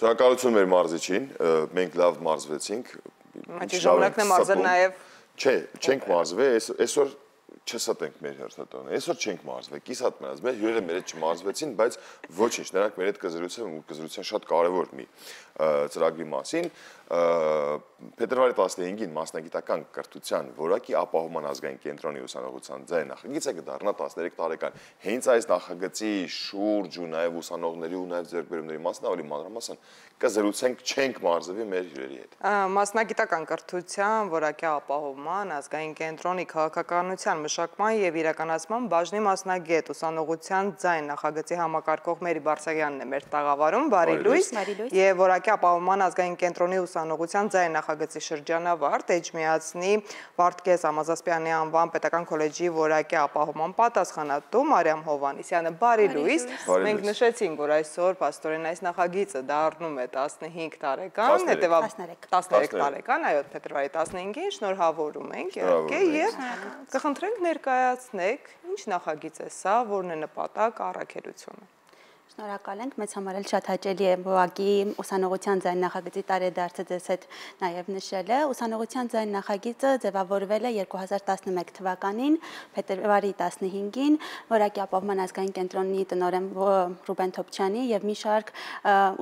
Շնորհակալություն մեր մարզիչին, մենք լավ մարզվեցինք։ Ժամանակն է մարզել նաև։ Չէ, չենք մարզվել, այսօր չստենք մեր հերթատոնը։ Այսօր չենք մարզվել, կիսատ մնաց, մեր հյուրերը մեր հետ չմարզվեցին, բայց ոչինչ, նրանք մեր հետ կզրուցեն շատ կարևոր մի ծրագրի մասին։ Փետրվարի 15-ին մասնագիտական կրթության որակի ապահովման ազգային կենտրոնի ուսանողության ձայն նախագիծը կդառնա 13 տարեկան։ Հենց այս նախագծի շուրջ ու նաև ուսանողների ու նաև ձեռքբերումների մասն ավելի մանրամասն կզրուցենք, չենք մարզվի մեր հյուրերի հետ։ Մասնագիտական կրթության որակի ապահովման ազգային կենտրոնի քաղաքականության մշակման եւ իրականացման բաժնի մասնագետ ուսանողության ձայն նախագծի համակարգող Մերի Բարսեղյանն է մեր տաղավարում, բարի լույս, եւ որակի ապահովման ազգային կենտրոնի ուսանողության ձայն նախագծի շրջանավարտ Էջմիածնի Վարդգես Ամազասպյանի անվան պետական քոլեջի որակի ապահովման պատասխանատու Մարիամ Հովհաննիսյանը, բարի լույս։ Մենք նշեցինք, որ այսօր փաստորեն այս նախագիծը դառնում է 15 տարեկան, հետեւաբար 13 տարեկան, այո, փետրվարի 15-ին շնորհավորում ենք իհարկե եւ կխնդրենք ներկայացնեք ինչ նախագիծ է սա, որն է նպատակ առաքելությունը։ Շնորհակալ ենք, մեզ համար էլ շատ հաճելի է որակի ուսանողության ձայն նախագծի տարեդարձը ձեզ հետ նաև նշելը։ Ուսանողության ձայն նախագիծը ձևավորվել է 2011 թվականին, փետրվարի 15-ին, որակի ապահովման ազգային կենտրոնի տնօրեն Ռուբեն Թոփչյանի եւ մի շարք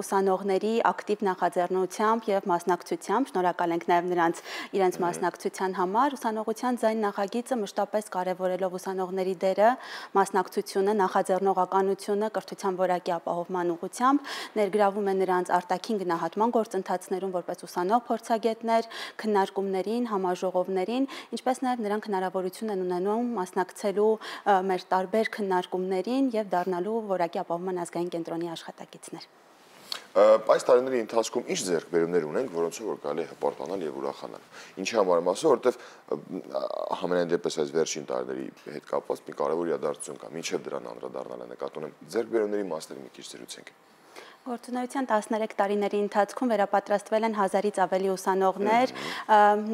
ուսանողների ակտիվ նախաձեռնությամբ եւ մասնակցությամբ, շնորհակալ ենք նաև նրանց իրենց մասնակցության համար։ Ուսանողության ձայն նախագիծը մշտապես կարևորելով ուսանողների դերը, մասնակցությունը, նախաձեռնողականությունը, կրթության որակի ապահովման ուղղությամբ ներգրավում է նրանց արտաքին գնահատման գործընթացներում որպես ուսանող փորձագետներ, քննարկումներին, համաժողովներին, ինչպես նաև նրանք հնարավորություն են ունենում մասնակցելու մեր տարբեր քննարկումներին եւ դառնալու որակի ապահովման ազգային կենտրոնի աշխատակիցներ։ Այս տարիների ընթացքում ինչ ձեռքբերումներ ունենք, որոնցով որ կարելի է հպարտանալ եւ ուրախանալ։ Ինչի համար եմ ասում, որովհետեւ համենայն դեպս այս վերջին տարիների հետ կապված մի կարևոր իրադարձություն կա, մինչեւ դրան անդրադառնալը նկատի ունեմ ձեռքբերումների մասները մի քիչ զրուցենք։ Գործունեության 13 տարիների ընթացքում վերապատրաստվել են 1000-ից ավելի ուսանողներ,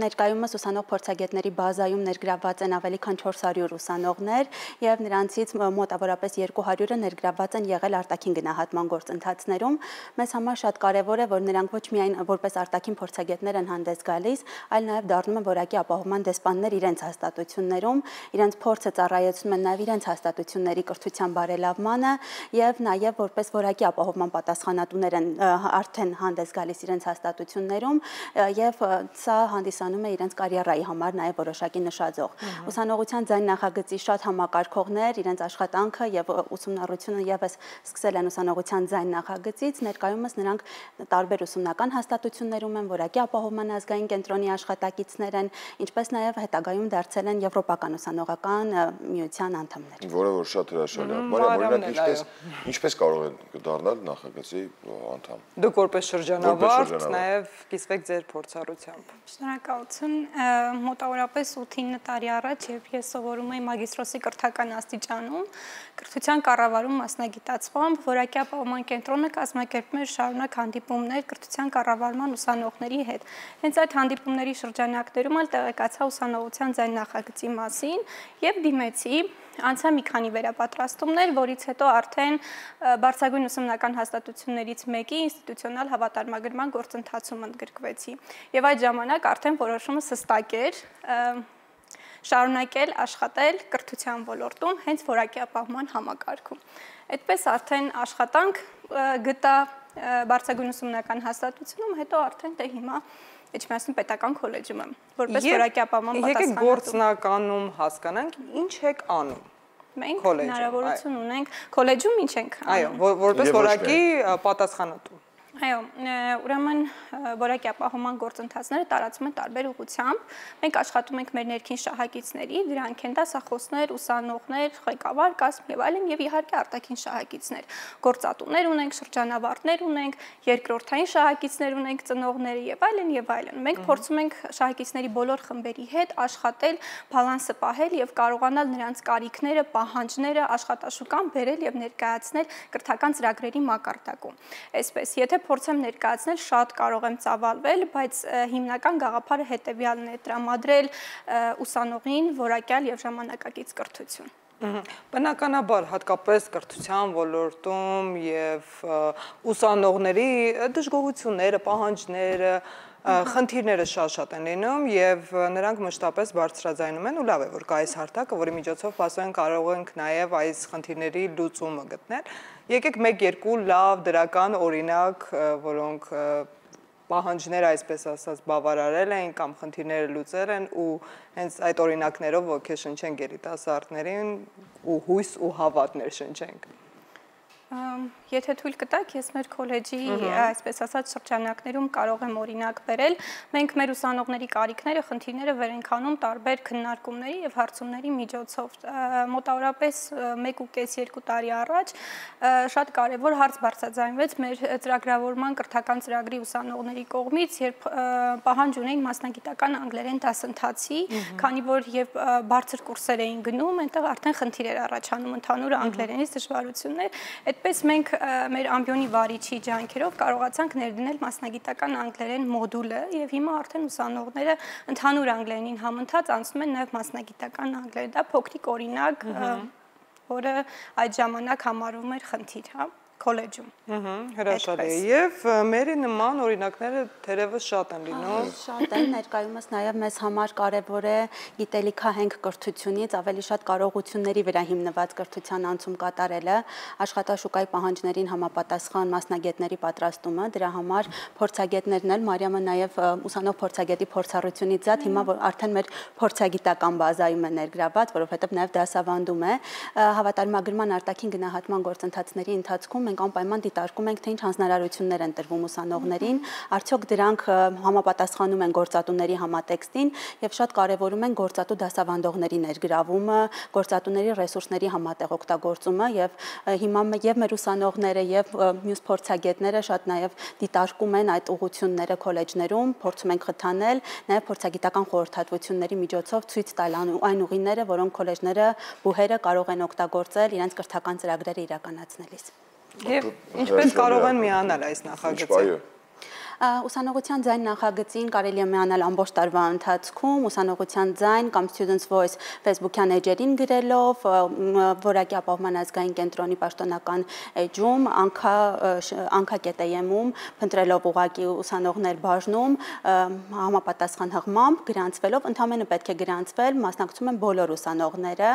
ներկայումս ուսանող փորձագետների բազայում ներգրավված են ավելի քան 400 ուսանողներ եւ նրանցից մոտավորապես 200-ը ներգրավված են եղել արտաքին գնահատման գործընթացներում։ Մեզ համար շատ կարեւոր է, որ նրանք ոչ միայն որպես արտաքին փորձագետներ են հանդես գալիս, այլ նաեւ դառնում են որակի ապահովման դեսպաններ իրենց հաստատություններում, իրենց փորձը ծառայեցնում են նաեւ իրենց հաստատությունների կրթության բարելավմանը եւ նաեւ որպես որակի ապահովման պատասխանատուներ են արդեն հանդես գալիս իրենց հաստատություններում եւ սա հանդիսանում է իրենց կարիերայի համար նաեւ որոշակի նշաձող։ Ուսանողության ձայն նախագծի շատ համակարգողներ իրենց աշխատանքը եւ ուսումնառությունը եւս սկսել են ուսանողության ձայն նախագծից, ներկայումս նրանք տարբեր ուսումնական հաստատություններում են, որակի ապահովման ազգային կենտրոնի աշխատակիցներ են, ինչպես նաեւ հետագայում դարձել են Եվրոպական ուսանողական միության անդամներ։ Որը որ շատ հրաշալի է։ Մարիամ, օրինակ ինչպես կարող են դառնալ նախագծի անդամ։ Դուք որպես շրջանավարտ նաև կիսվեք ձեր փորձառությամբ։ Շնորհակալություն։ Մոտավորապես 8-9 տարի առաջ, երբ ես սովորում էի մագիստրոսի կրթական աստիճանում, կրթության կառավարում մասնագիտացմամբ, որակի ապահովման կենտրոնը կազմակերպում էր շարունակ հանդիպումներ կրթության կառավարման ուսանողների հետ։ Հենց այդ հանդիպումների շրջանակներում էլ տեղեկացա ուսանողության ձայն նախագծի մասին եւ դիմեցի, անցա մի քանի վերապատրաստումներ, որից հետո արդեն բարձրագույն ուսումնական հաստատություններից մեկի ինստիտուցիոնալ հավատարմագրման գործընթացում ընդգրկվեցի։ Եվ այդ ժամանակ արդեն որոշումս հստակ էր շարունակել աշխատել կրթության ոլորտում հենց որակի ապահովման համակարգում։ Այդպես արդեն աշխատանք գտա բարձրագույն ուսումնական հաստատությունում, հետո արդեն դե հիմա Էջմիածնի պետական քոլեջում եմ, որպես որակի ապահովման պատասխանատու։ Եկեք գործնականում հասկանանք, ինչ եք անում։ Մենք հնարավորություն ունենք քոլեջում ինչ ենք անում։ Այո, որպես որակի պատասխանատու։ Այո, ուրեմն որակի ապահովման գործընթացները տարածվում են տարբեր ուղղությամբ։ Մենք աշխատում ենք մեր ներքին շահագիծների, դրանք են դասախոսներ, ուսանողներ, ղեկավար կազմ եւ այլն, եւ իհարկե արտաքին շահագիծներ։ Գործատուներ ունենք, շրջանավարտներ ունենք, երկրորդային շահագիծներ ունենք, ծնողներ եւ այլն եւ այլն։ Մենք փորձում ենք շահագիծների բոլոր խմբերի հետ աշխատել, բալանսը պահել եւ կարողանալ նրանց կարիքները, պահանջները աշխատաշուկան բերել եւ ներկայացնել կրթական ծրագրերի մակարդակում։ Այսպես, եթե փորձեմ ներկայացնել, շատ կարող եմ ծավալվել, բայց հիմնական գաղափարը հետևյալն է՝ տրամադրել ուսանողին որակյալ եւ ժամանակակից կրթություն։ Բնականաբար հատկապես կրթության ոլորտում եւ ուսանողների դժգոհությունները, պահանջները, խնդիրները շատ են լինում եւ նրանք մշտապես բարձրաձայնում են ու լավ է որ կա այս հարթակը, որի միջոցով ասենք կարող ենք նաեւ այս խնդիրների լուծումը գտնել։ Եկեք 1-2 լավ դրական օրինակ, որոնք պահանջները այսպես ասած բավարարել են կամ խնդիրները լուծել են ու հենց այդ օրինակներով ոգեշնչենք երիտասարդներին ու հույս ու հավատ ներշնչենք։ Եթե թույլ կտաք, ես մեր քոլեջի այսպես ասած շրջանակներում կարող եմ օրինակ բերել, մենք մեր ուսանողների կարիքները, խնդիրները վեր ենք անում տարբեր քննարկումների եւ հարցումների միջոցով։ Մոտավորապես 1.5-2 տարի առաջ շատ կարեւոր հարց բարձրաձայնվեց մեր ծրագրավորման կրթական ծրագրի ուսանողների կողմից, երբ պահանջ ունեին մասնագիտական անգլերեն դասընթացի, քանի որ եւ բարձր կուրսեր էին գնում, այնտեղ արդեն խնդիր էր առաջանում ընդհանուր անգլերենից դժվարություններ։ Այդպես մենք մեր ամբիոնի վարիչի ջանքերով կարողացանք ներդնել մասնագիտական անգլերեն մոդուլը եւ հիմա արդեն ուսանողները ընդհանուր անգլերենին համընթաց անցնում են նաեւ մասնագիտական անգլերեն։ Դա փոքրիկ օրինակ, որը այդ ժամանակ համարվում էր խնդիր, հա, քոլեջում։ Հրաշալի է եւ մերի նման օրինակները թերևս շատ են լինում։ Շատ են, ներկայումս նաեւ մեզ համար կարեւոր է գիտելիքահենք կրթությունից ավելի շատ կարողությունների վրա հիմնված կրթության անցում կատարելը, աշխատաշուկայի պահանջներին համապատասխան մասնագետների պատրաստումը, դրա համար փորձագետներն էլ Մարիամը նաեւ ուսանող փորձագետի փորձառությունից զատ հիմա արդեն մեր փորձագիտական բազայում է ներգրաված, որովհետեւ նաեւ դասավանդում է հավատարմագրման արտաքին գնահատման գործընթացների ընթացքում մենք անպայման դիտարկում ենք, թե ինչ հանձնարարություններ են տրվում ուսանողներին, արդյոք դրանք համապատասխանում են գործատուների համատեքստին եւ շատ կարեւորում են գործատու դասավանդողների ներգրավումը, գործատուների ռեսուրսների համատեղ օգտագործումը եւ հիմա եւ մեր ուսանողները եւ մյուս փորձագետները շատ նաեւ դիտարկում են այդ ուղղությունները քոլեջներում, փորձում ենք խթանել, նաեւ փորձագիտական խորհրդատվությունների միջոցով ցույց տալ այն ուղիները, որոնք քոլեջները, բուհերը կարող են օգտագործել իրենց կրթական ծրագրերը իրականացնելիս։ Եվ ինչպես կարող են միանալ այս նախագծին։ Ուսանողության ձայն նախագծին կարելի է միանալ ամբողջ տարվա ընթացքում, ուսանողության ձայն կամ Students Voice Facebook-յան էջերին գրելով, որակի ապահովման ազգային կենտրոնի պաշտոնական էջում, անկա.am-ում, փնտրելով ուղղակի ուսանողներ բաժնում, համապատասխան հղմամբ գրանցվելով, ընդամենը պետք է գրանցվել, մասնակցում են բոլոր ուսանողները,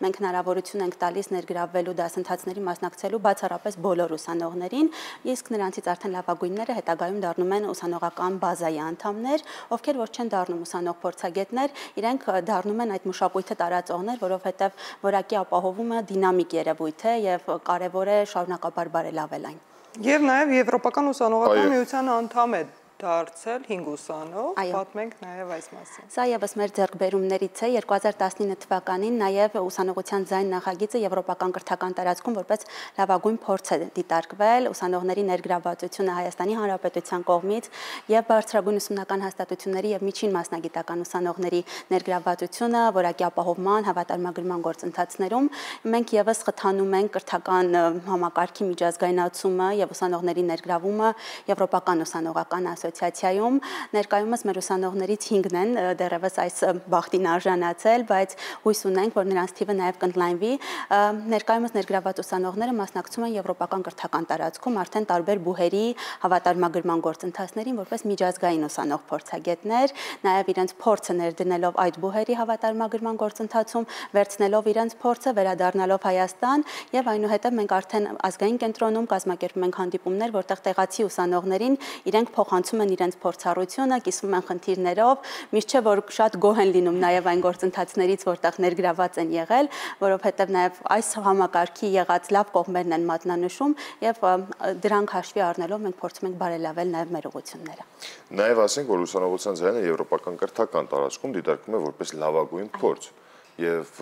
մենք հնարավորություն ենք տալիս ներգրավվելու դասընթացների մասնակցելու բացառապես բոլոր ուսանողներին, իսկ նրանցից արդեն լավագույնները հետագայում դառնում են ուսանողական բազայի անդամներ, ովքեր որ չեն դառնում ուսանող փորձագետներ, իրենք դառնում են այդ մշակույթը տարածողներ, որովհետև որակի ապահովումը դինամիկ երևույթ է եւ կարեւոր է շարունակաբար բարելավել այն։ Եվ նաեւ Եվրոպական ուսանողական միության անդամ է դարձել 5 ուսանող, պատմենք նաև այս մասին։ Սա եւս մեր ձեռքբերումներից է 2019 թվականին նաև ուսանողության ձայն նախագիծը եվրոպական կրթական տարածքում որպես լավագույն փորձ է դիտարկվել, ուսանողների ներգրավվածությունը Հայաստանի Հանրապետության կողմից եւ բարձրագույն ուսումնական հաստատությունների եւ միջին մասնագիտական ուսանողների ներգրավվածությունը որակի ապահովման, հավատարմագրման գործընթացներում մենք եւս խթանում ենք կրթական համակարգի միջազգայնացումը եւ ուսանողների ներգրավումը եվրոպական ուսանողական ասոցիացիայում ներկայումս մեր ուսանողներից 5-ն են դեռևս այս բախտին արժանացել, բայց հույս ունենք, որ նրանց թիվը նաև կընդլայնվի։ Ներկայումս ներգրաված ուսանողները մասնակցում են եվրոպական կրթական տարածքում արդեն տարբեր բուհերի հավատարմագրման գործընթացներին որպես միջազգային ուսանող փորձագետներ, նաև իրենց փորձը ներդնելով այդ բուհերի հավատարմագրման գործընթացում, վերցնելով իրենց փորձը, վերադառնալով Հայաստան եւ այնուհետեւ մենք արդեն ազգային կենտրոնում կազմակերպում ենք հանդիպումներ, որտեղ տեղացի ուսանողներին իրենք փոխանցում են իրենց փորձառությունը, կիսվում են խնդիրներով, միշտ չէ որ շատ գոհ են լինում նաև այն գործընթացներից, որտեղ ներգրաված են եղել, որովհետև նաև այս համակարգի եղած լավ կողմերն են մատնանշում եւ դրանք հաշվի առնելով մենք փորձում ենք բարելավել նաև մեր ուղղությունները։ Նաև ասենք, որ ուսանողության ձայնը եվրոպական կրթական տարածքում դիտարկվում է որպես լավագույն փորձ եւ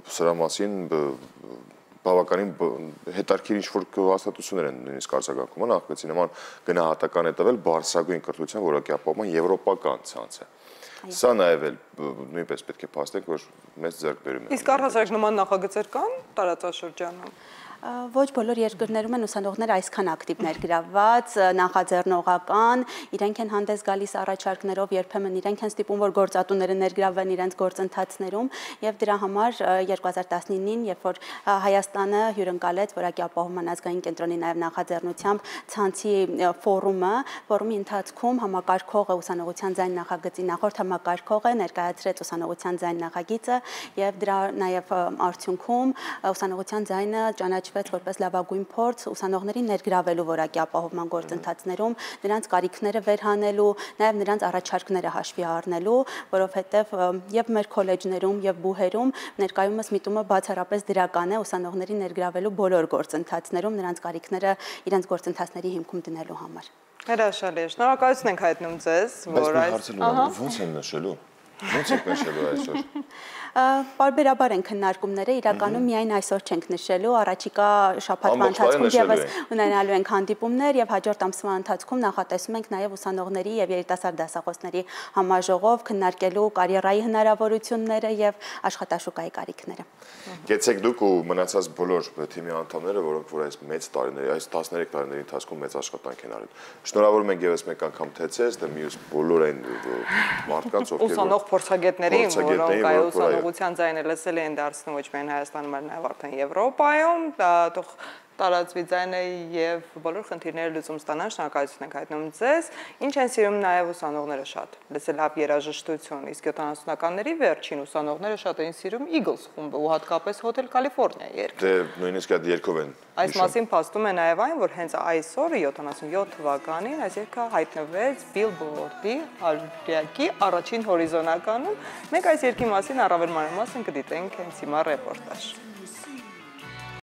սրա մասին բավականին հետարքիր ինչ-որ հաստատություններ են նույնիսկ արձագանքում, նախագծի նման գնահատական է տվել բարձրագույն կրթության որակի ապահովման եվրոպական ցանցը։ Սա նաև նույնպես պետք է փաստենք, որ մեծ ձեռքբերում է։ Իսկ առհասարակ նման նախագծեր կան տարածաշրջանում։ Ոչ բոլոր երկրներում են ուսանողները այսքան ակտիվ ներգրավված, նախաձեռնողական, իրենք են հանդես գալիս առաջարկներով, երբեմն իրենք են ստիպում, որ գործատուները ներգրավվեն իրենց գործընթացներում, եւ դրա համար 2019-ին, երբ որ Հայաստանը հյուրընկալեց Որակի ապահովման ազգային կենտրոնի նաեւ նախաձեռնությամբ ցանցի ֆորումի ընթացքում համակարգողը ուսանողության ձայն նախագծի նախորդ համակարգողը ներկայացրեց ուսանողության ձայն նախագիծը եւ դրա նաեւ արդյունքում ուսանողության ձայնը ճանաչվեց որպես լավագույն փորձ ուսանողներին ներգրավելու որակի ապահովման գործընթացներում, նրանց կարիքները վերհանելու, նաև նրանց առաջարկները հաշվի առնելու, որովհետև եւ մեր քոլեջներում եւ բուհերում ներկայումս միտումը բացառապես դրական է ուսանողների ներգրավելու բոլոր գործընթացներում, նրանց կարիքները իրենց գործընթացների հիմքում դնելու համար։ Հրաշալի է։ Շնորհակալություն ենք հայտնում ձեզ, որ այս ոնց են նշելու։ Ոնց եք նշելու այսօր։ Պարբերաբար են քննարկումները, իրականում միայն այսօր չենք նշելու, առաջիկա շաբաթվա ընթացքում եւս ունենալու ենք հանդիպումներ եւ հաջորդ ամսվա ընթացքում նախատեսում ենք նաեւ ուսանողների եւ երիտասարդ դասախոսների համաժողով քննարկելու կարիերայի հնարավորությունները եւ աշխատաշուկայի կարիքները։ Գեցեք դուք ու մնացած բոլոր թիմի անդամները, որոնք որ այս մեծ տարիների, այս 13 տարիների ընթացքում մեծ աշխատանք են արել։ Շնորհավորում ենք եւս մեկ անգամ թե ձեզ, դե մյուս բոլոր այն մարդկանց, ովքեր ուսանող փորձագետներին, որոնք այո ուսանողության ձայնը լսել են դարձնում ոչ միայն Հայաստանում, այլ նաև արդեն Եվրոպայում, թող տարածվի ձայնը եւ բոլոր խնդիրները լուծում ստանան, շնորհակալություն ենք հայտնում ձեզ։ Ինչ են սիրում նաև ուսանողները շատ, լսել հապ երաժշտություն, իսկ 70-ականների վերջին ուսանողները շատ էին սիրում Eagles խումբը ու հատկապես Hotel California երգը։ Դե նույնիսկ այդ երգով են։ Այս մասին փաստում է նաև այն, որ հենց այսօր 77 թվականին այս երգը հայտնվեց Billboard-ի հարյակի առաջին հորիզոնականում։ Մենք այս երգի մասին առավել մանրամասն կդիտենք հենց հիմա ռեպորտաժ։